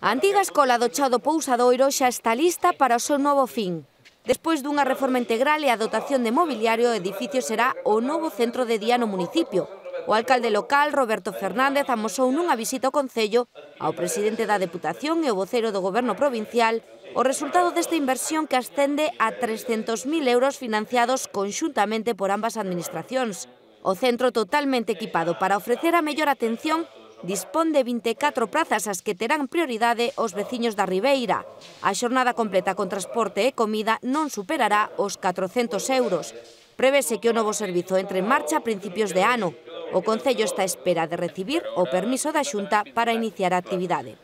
A antiga escola do Chao do Pousadoiro xa está lista para o seu novo fin. Despois dunha reforma integral e a dotación de mobiliario, o edificio será o novo centro de día no municipio. O alcalde local, Roberto Fernández, amosou nunha visita ao Concello ao presidente da Deputación e o vocero do Goberno provincial o resultado desta inversión que ascende a 300.000 euros financiados conxuntamente por ambas administracións. O centro totalmente equipado para ofrecer a mellor atención dispón de 24 prazas as que terán prioridade os veciños da Ribeira. A xornada completa con transporte e comida non superará os 400 euros. Prevese que o novo servizo entre en marcha a principios de ano. O Concello está á espera de recibir o permiso da Xunta para iniciar a actividade.